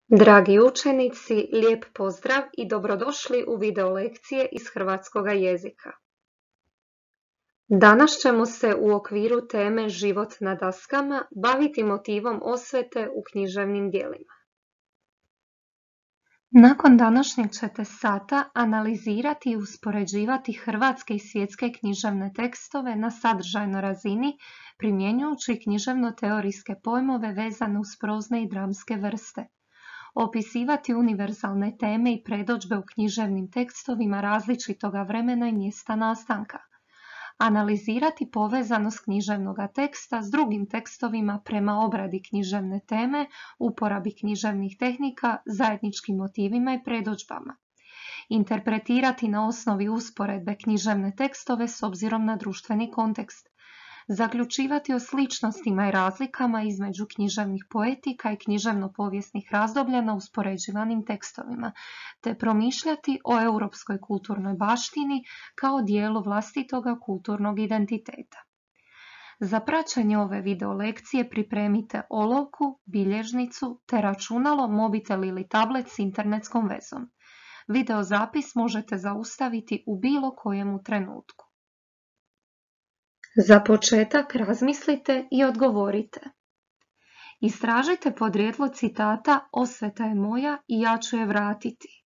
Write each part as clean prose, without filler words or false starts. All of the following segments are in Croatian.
Dragi učenici, lijep pozdrav i dobrodošli u video lekcije iz hrvatskoga jezika. Danas ćemo se u okviru teme Život na daskama baviti motivom osvete u književnim djelima. Nakon današnjeg ćete sata analizirati i uspoređivati hrvatske i svjetske književne tekstove na sadržajnoj razini, primjenjujući književno-teorijske pojmove vezane uz prozne i dramske vrste. Opisivati univerzalne teme i predodžbe u književnim tekstovima različitoga vremena i mjesta nastanka. Analizirati povezanost književnog teksta s drugim tekstovima prema obradi književne teme, uporabi književnih tehnika, zajedničkim motivima i predodžbama. Interpretirati na osnovi usporedbe književne tekstove s obzirom na društveni kontekst. Zaključivati o sličnostima i razlikama između književnih poetika i književno-povijesnih razdoblja na uspoređivanim tekstovima, te promišljati o europskoj kulturnoj baštini kao dijelu vlastitoga kulturnog identiteta. Za praćenje ove video lekcije pripremite olovku, bilježnicu te računalo, mobitel ili tablet s internetskom vezom. Video zapis možete zaustaviti u bilo kojemu trenutku. Za početak razmislite i odgovorite. Istražite podrijetlo citata "Osveta je moja i ja ću je vratiti".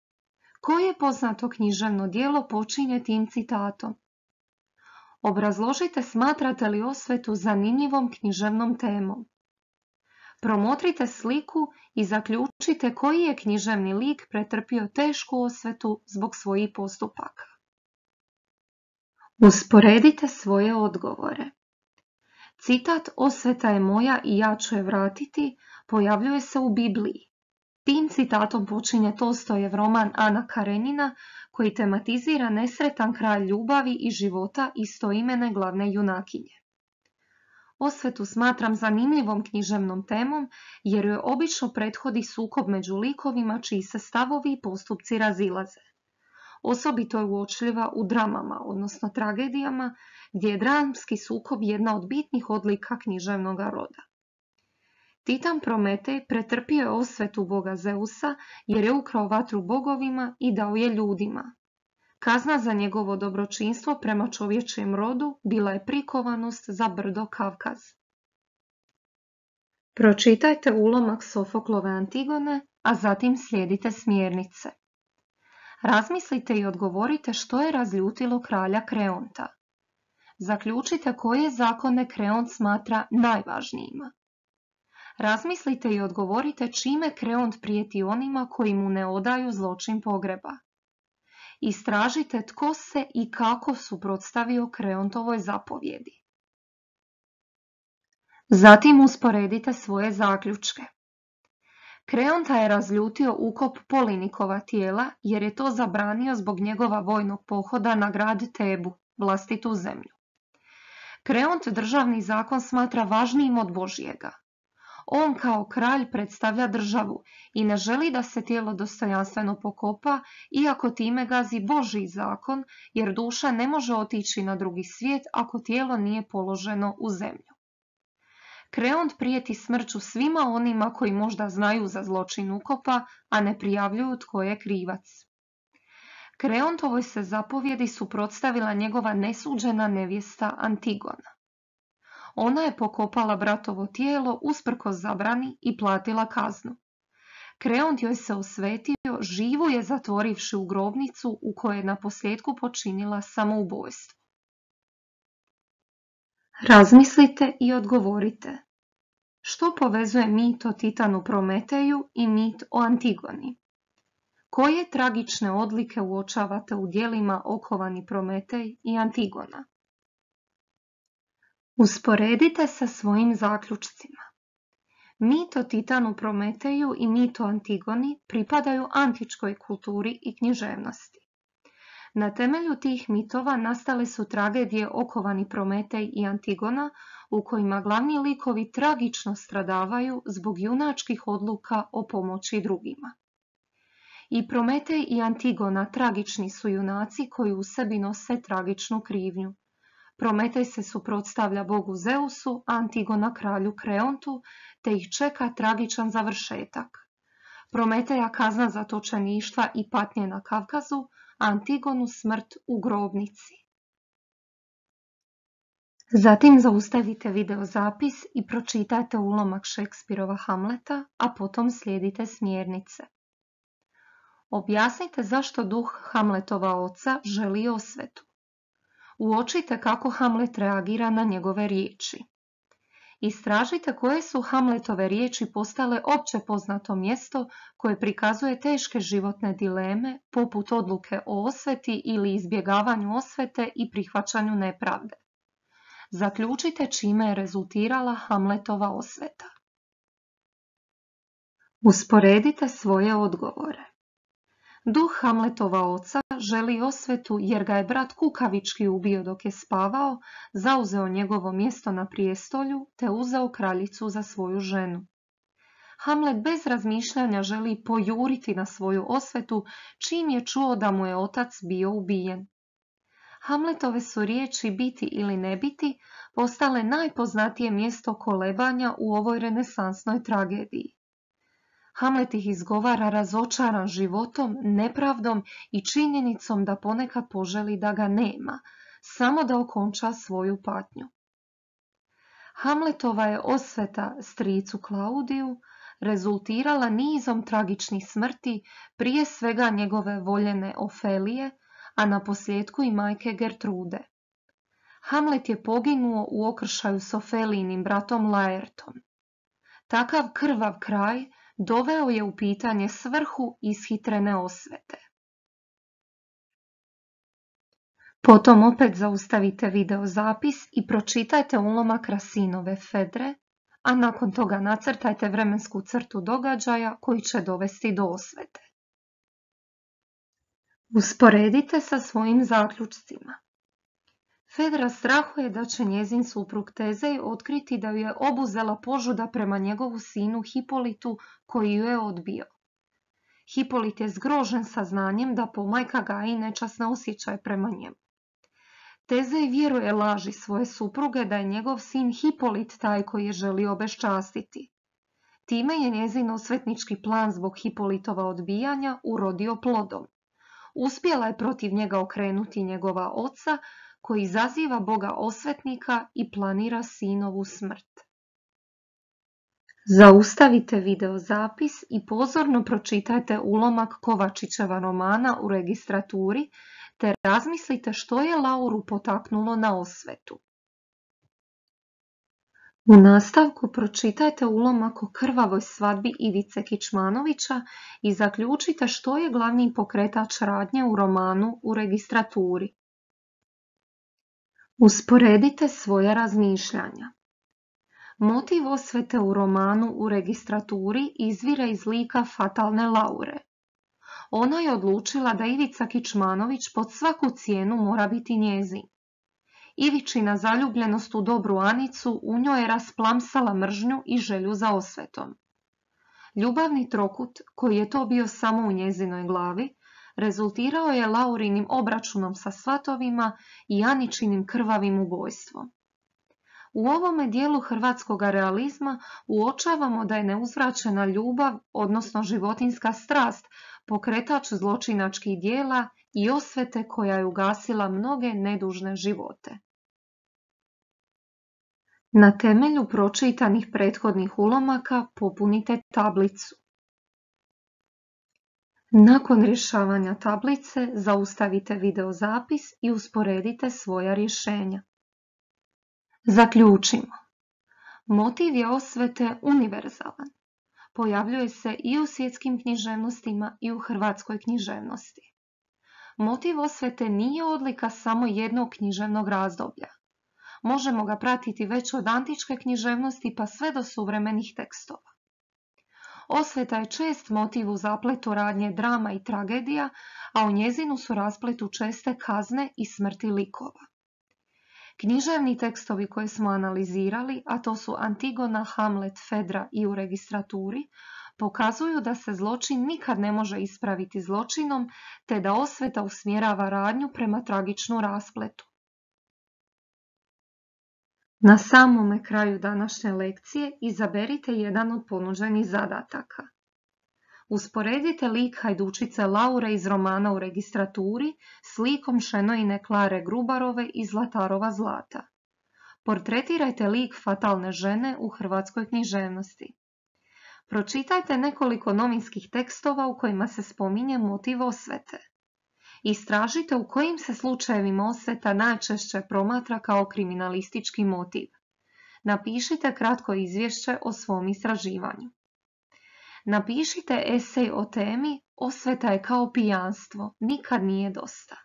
Koje poznato književno djelo počinje tim citatom? Obrazložite smatrate li osvetu zanimljivom književnom temom. Promotrite sliku i zaključite koji je književni lik pretrpio tešku osvetu zbog svojih postupaka. Usporedite svoje odgovore. Citat "Osveta je moja i ja ću je vratiti" pojavljuje se u Bibliji. Tim citatom počinje Tolstojev roman Ana Karenina, koji tematizira nesretan kraj ljubavi i života istoimene glavne junakinje. Osvetu smatram zanimljivom književnom temom jer joj obično prethodi sukob među likovima čiji se stavovi i postupci razilaze. Osobito je uočljiva u dramama, odnosno tragedijama, gdje je dramski sukob jedna od bitnih odlika književnog roda. Titan Prometej pretrpio je osvetu boga Zeusa jer je ukrao vatru bogovima i dao je ljudima. Kazna za njegovo dobročinstvo prema čovječijem rodu bila je prikovanost za brdo Kavkaz. Pročitajte ulomak Sofoklove Antigone, a zatim slijedite smjernice. Razmislite i odgovorite što je razljutilo kralja Kreonta. Zaključite koje zakone Kreont smatra najvažnijima. Razmislite i odgovorite čime Kreont prijeti onima koji mu ne odaju zločin pogreba. Istražite tko se i kako suprotstavio Kreontovoj zapovjedi. Zatim usporedite svoje zaključke. Kreonta je razljutio ukop Polinikova tijela jer je to zabranio zbog njegova vojnog pohoda na grad Tebu, vlastitu zemlju. Kreont državni zakon smatra važnijim od Božjega. On kao kralj predstavlja državu i ne želi da se tijelo dostojanstveno pokopa, iako time gazi Božji zakon, jer duša ne može otići na drugi svijet ako tijelo nije položeno u zemlju. Kreont prijeti smrću svima onima koji možda znaju za zločin ukopa, a ne prijavljuju tko je krivac. Kreontovoj se zapovjedi suprotstavila njegova nesuđena nevjesta Antigona. Ona je pokopala bratovo tijelo usprkos zabrani i platila kaznu. Kreont joj se osvetio, živu je zatvorivši u grobnicu u kojoj je naposljetku počinila samoubojstvo. Razmislite i odgovorite. Što povezuje mit o Titanu Prometeju i mit o Antigoni? Koje tragične odlike uočavate u djelima Okovani Prometej i Antigona? Usporedite sa svojim zaključcima. Mit o Titanu Prometeju i mit o Antigoni pripadaju antičkoj kulturi i književnosti. Na temelju tih mitova nastale su tragedije Okovani Prometej i Antigona, u kojima glavni likovi tragično stradavaju zbog junačkih odluka o pomoći drugima. I Prometej i Antigona tragični su junaci koji u sebi nose tragičnu krivnju. Prometej se suprotstavlja bogu Zeusu, Antigona kralju Kreontu, te ih čeka tragičan završetak. Prometeja kazna zatočeništva i patnje na Kavkazu, a Antigonu smrt u grobnici. Zatim zaustavite videozapis i pročitajte ulomak Šekspirova Hamleta, a potom slijedite smjernice. Objasnite zašto duh Hamletova oca želi osvetu. Uočite kako Hamlet reagira na njegove riječi. Istražite koje su Hamletove riječi postale opće poznato mjesto koje prikazuje teške životne dileme, poput odluke o osveti ili izbjegavanju osvete i prihvaćanju nepravde. Zaključite čime je rezultirala Hamletova osveta. Usporedite svoje odgovore. Duh Hamletova oca želi osvetu jer ga je brat kukavički ubio dok je spavao, zauzeo njegovo mjesto na prijestolju te uzeo kraljicu za svoju ženu. Hamlet bez razmišljanja želi pojuriti na svoju osvetu čim je čuo da mu je otac bio ubijen. Hamletove su riječi biti ili ne biti postale najpoznatije mjesto kolebanja u ovoj renesansnoj tragediji. Hamlet ih izgovara razočaran životom, nepravdom i činjenicom da ponekad poželi da ga nema, samo da okonča svoju patnju. Hamletova je osveta stricu Klaudiju rezultirala nizom tragičnih smrti, prije svega njegove voljene Ofelije, a naposljetku i majke Gertrude. Hamlet je poginuo u okršaju s Ofelijnim bratom Laertom. Takav krvav kraj doveo je u pitanje svrhu ishitrene osvete. Potom opet zaustavite videozapis i pročitajte ulomak Racinove Fedre, a nakon toga nacrtajte vremensku crtu događaja koji će dovesti do osvete. Usporedite sa svojim zaključcima. Fedra strahuje da će njezin suprug Tezej otkriti da ju je obuzela požuda prema njegovu sinu Hipolitu koji ju je odbio. Hipolit je zgrožen saznanjem da pomajka gaji nečasne osjećaje prema njemu. Tezej vjeruje laži svoje supruge da je njegov sin Hipolit taj koji je želio obeščastiti. Time je njezin osvetnički plan zbog Hipolitova odbijanja urodio plodom. Uspjela je protiv njega okrenuti njegova oca, koji izaziva Boga osvetnika i planira sinovu smrt. Zaustavite videozapis i pozorno pročitajte ulomak Kovačićeva romana u registraturi, te razmislite što je Lauru potaknulo na osvetu. U nastavku pročitajte ulomak o krvavoj svadbi Ivice Kičmanovića i zaključite što je glavni pokretač radnje u romanu u registraturi. Usporedite svoja razmišljanja. Motiv osvete u romanu u registraturi izvire iz lika fatalne Laure. Ona je odlučila da Ivica Kičmanović pod svaku cijenu mora biti njezin. Ivičina zaljubljenost u dobru Anicu u njoj je rasplamsala mržnju i želju za osvetom. Ljubavni trokut, koji je to bio samo u njezinoj glavi, rezultirao je Laurinim obračunom sa svatovima i Aničinim krvavim ubojstvom. U ovome dijelu hrvatskog realizma uočavamo da je neuzvraćena ljubav, odnosno životinjska strast, pokretač zločinačkih dijela i osvete koja je ugasila mnoge nedužne živote. Na temelju pročitanih prethodnih ulomaka popunite tablicu. Nakon rješavanja tablice zaustavite videozapis i usporedite svoja rješenja. Zaključimo. Motiv je osvete univerzalan. Pojavljuje se i u svjetskim književnostima i u hrvatskoj književnosti. Motiv osvete nije odlika samo jednog književnog razdoblja. Možemo ga pratiti već od antičke književnosti pa sve do suvremenih tekstova. Osveta je čest motiv u zapletu radnje drama i tragedija, a u njezinu su raspletu česte kazne i smrti likova. Književni tekstovi koje smo analizirali, a to su Antigona, Hamlet, Fedra i u registraturi, pokazuju da se zločin nikad ne može ispraviti zločinom, te da osveta usmjerava radnju prema tragičnu raspletu. Na samome kraju današnje lekcije izaberite jedan od ponuđenih zadataka. Usporedite lik hajdučice Laure iz romana U registraturi s likom Šenoine Klare Grubarove iz Zlatarova zlata. Portretirajte lik fatalne žene u hrvatskoj književnosti. Pročitajte nekoliko novinskih tekstova u kojima se spominje motiv osvete. Istražite u kojim se slučajevima osveta najčešće promatra kao kriminalistički motiv. Napišite kratko izvješće o svom istraživanju. Napišite esej o temi Osveta je kao pijanstvo, nikad nije dosta.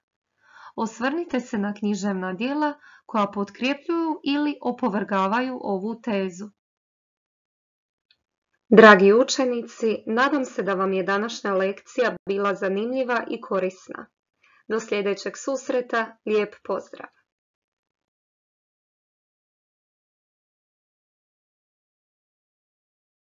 Osvrnite se na književna djela koja potkrepljuju ili opovrgavaju ovu tezu. Dragi učenici, nadam se da vam je današnja lekcija bila zanimljiva i korisna. Do sljedećeg susreta, lijep pozdrav!